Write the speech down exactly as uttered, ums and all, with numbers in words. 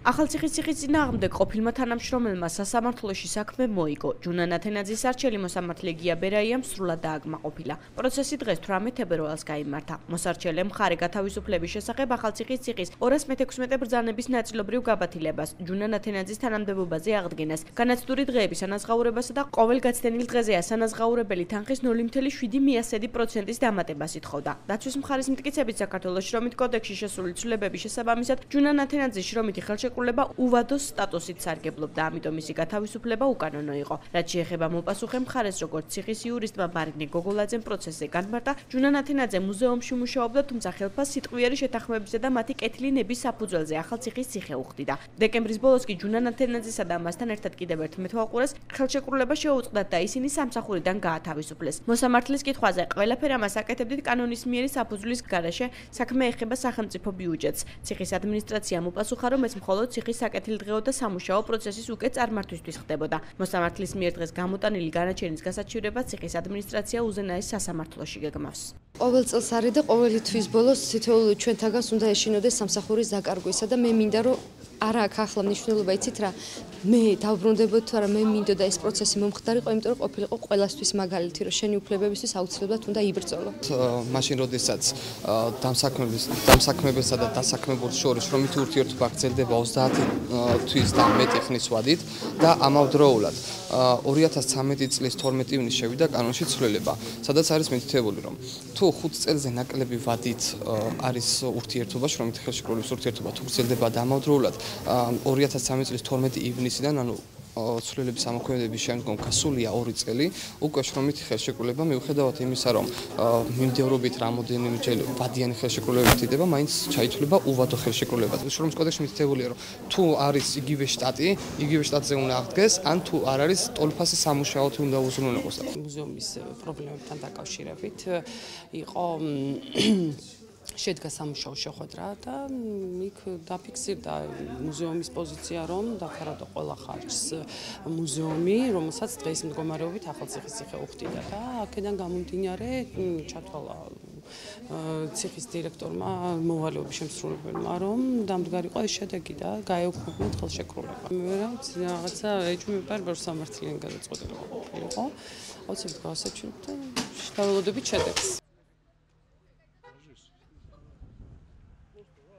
ახალციხის წინააღმდეგ ყოფილმა თანამშრომელმა სასამართლოში საქმე მოიგო. ჯუნა ნათენაძის არჩეული მოსამართლე გია ბერაიამ სრულად დააკმაყოფილა. პროცესი დღეს თვრამეტ თებერვალს გაიმართა. მოსარჩელემ მხარე გათავისუფლების შესახებ ახალციხის ციხის ორას მეთექვსმეტე ბრძანების ნაწილობრივ გაბათილებას, ჯუნა ნათენაძის თანამდებობაზე აღდგენას, განაცდური დღეების ანაზღაურებასა და ყოველ გაცდენილ დღეზე ასანაზღაურებელი თანხის ნული მცდრორი შვიდი პროცენტის დამატებას ითხოვდა. დაცვის მხარის მტკიცებით საქართველოს შრომით კოდექსში შესული ცვლილებების შესაბამისად ჯუნა ნათენაძის შრომითი ხელშეკრულება უვადოს სტატუსით სარგებლობდა, ამიტომ მისი გათავისუფლება უკანონო იყო. რაც შეეხება მოპასუხე მხარეს, როგორც ციხის იურისტმა მარინე გოგოლაძემ პროცესზე განმარტა, ჯუნა ნათენაძე მუზეუმში მუშაობდა, თუმცა ხელფას სიტყვიერი შეთანხმებისა და მათი კეთილინების საფუძველზე ახალციხის ციხე უხდიდა. დეკემბრის ბოლოს კი ჯუნა ნათენაძესა და მასთან ერთად კიდევ ერთ მეთვალყურეს ხელშეკრულება შეუწყდათ და ისინი სამსახურიდან გაათავისუფლეს. მოსამართლის კითხვაზე ყველაფერი ამას აკეთებდით კანონის მიერი საფუძვლის გარეშე, საქმე ეხება სახელმწიფო ბიუჯეტს. ციხის ადმინისტრაციამ უპასუხა, რომ ეს მხოლოდ ციხის საკეთილდღეო და სამუშაო პროცესის უკეთ წარმართვისთვის ხდებოდა. მოსამართლის მიერ დღეს გამოტანილი განაჩენის გასაჩივრება ციხის ადმინისტრაცია უზენაეს სასამართლოში გეგმავს. ყოველ წელს არის და ყოველი თვის ბოლოს თითოეულ ჩვენთაგანს უნდა ეშინოდეს სამსახურის დაკარგვისა და მე მინდა რომ არა აქ ახლა მნიშვნელობა იცით რა მე დავბრუნდებოდი თუ არა მე მინდოდა ეს პროცესი მომხდარიყო, იმიტომ რომ ყოფილიყო ყველასთვის მაგალითი რომ შენი უფლებებისთვის აუცილებლად უნდა იბრძოლო. მაშინ როდესაც დამსაქმების დამსაქმებელსა და დასაქმებულ შორის შრომითი ურთიერთობა გრძელდება ოცდაათი თვის და მეტი ხნის ვადით და ამავდროულად ორი ათას ცხრამეტი წლის თორმეტი ივნისს შევიდა კანონში ცვლილება, სადაც არის მითითებული, რომ თუ ხუთ წელზე ნაკლები ვადით არის ურთიერთობა, შრომითი ხელშეკრულების ურთიერთობა თუ გრძელდება და ამავდროულად ორი ათას ცხრამეტი წლის თორმეტი ივნისიდან, ანუ ცვლილების ამოქმედების შემდგომ გასულია ორი წელი, უკვე შრომითი ხელშეკრულება მიუხედავად იმისა, რომ მიმდევრობით რამოდენიმეჯერ ვადიანი ხელშეკრულება მითითდება, მაინც ჩაითვლება უვადო ხელშეკრულება. შრომის კოდექსში მითითებულია, რომ თუ არის იგივე შტატი, იგივე შტატზე უნდა აღდგეს, ან თუ არ არის ტოლფასი სამუშაოთი უნდა უზრუნველყოს. მუზეუმის პრობლემებთან დაკავშირებით იყო შედგა სამუშაო შეხვედრა და იქ დაფიქსირდა მუზეუმის პოზიცია, რომ დაფარავდა ყველა ხარჯს მუზეუმი, რომელსაც დღეის მდგომარეობით ახალციხის ციხე უხდიდა და აქედან გამომდინარე ჩათვალა ციხის დირექტორმა მოვალეობის შემსრულებელმა, რომ დამდგარიყო ეს შედეგი და გაეუქმებინათ ხელშეკრულება. მე რაღაცა ეჭვმეპარ სამართლიანი გადაწყვეტილება ყოფილიყო. აუცილებლად გავასაჩივრებ და დაველოდებით შედეგს.